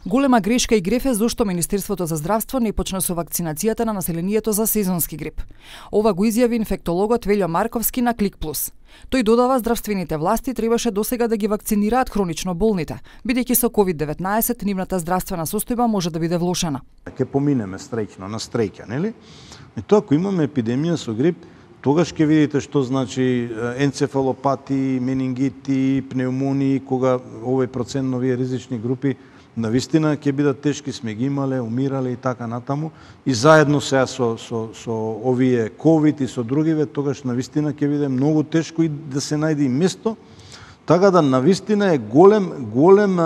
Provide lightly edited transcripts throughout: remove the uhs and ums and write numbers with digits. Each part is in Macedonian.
Голема грешка и греф е зошто Министерството за здравство не почна со вакцинацијата на населението за сезонски грип. Ова го изјави инфектологот Велјо Марковски на Клик Плюс. Тој додава здравствените власти требаше досега да ги вакцинираат хронично болните, бидејќи со COVID-19 нивната здравствена состојба може да биде влошена. Ќе поминеме стреќно на стреќа, нели? И тоа ако имаме епидемија со грип, тогаш ќе видите што значи енцефалопати, менингити, пневмонии, кога овој процент на овие ризични групи навистина ќе бидат тешки, сме ги имале, умирале и така натаму. И заедно сега со овие ковид и со другиве, тогаш навистина ќе биде многу тешко и да се најде и место. Така да навистина е голем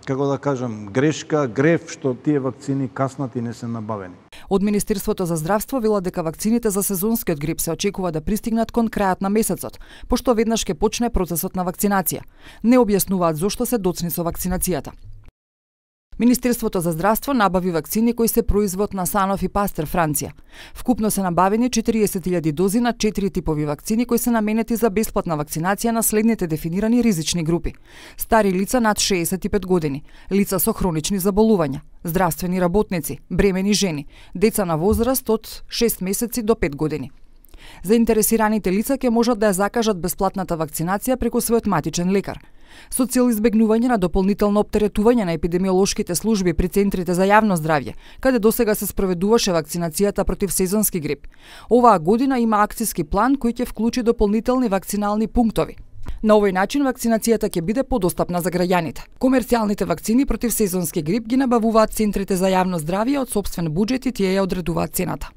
како да кажам, грешка, греф што тие вакцини каснат и не се набавени. Од Министерството за здравство велат дека вакцините за сезонскиот грип се очекува да пристигнат кон крајот на месецот, пошто веднаш ќе почне процесот на вакцинација. Не објаснуваат зошто се доцни со вакцинацијата. Министерството за здравство набави вакцини кои се производ на Sanofi Pasteur Франција. Вкупно се набавени 40.000 дози на 4 типови вакцини кои се наменети за бесплатна вакцинација на следните дефинирани ризични групи: стари лица над 65 години, лица со хронични заболувања, здравствени работници, бремени жени, деца на возраст од 6 месеци до 5 години. Заинтересираните лица ќе можат да ја закажат бесплатната вакцинација преку својот матичен лекар. Со цел избегнување на дополнително оптеретување на епидемиолошките служби при центрите за јавно здравје, каде досега се спроведуваше вакцинацијата против сезонски грип, оваа година има акциски план кој ќе вклучи дополнителни вакцинални пунктови. На овој начин вакцинацијата ќе биде подостапна за граѓаните. Комерцијалните вакцини против сезонски грип ги набавуваат центрите за јавно здравје од сопствен буџет и тие ја одредуваат цената.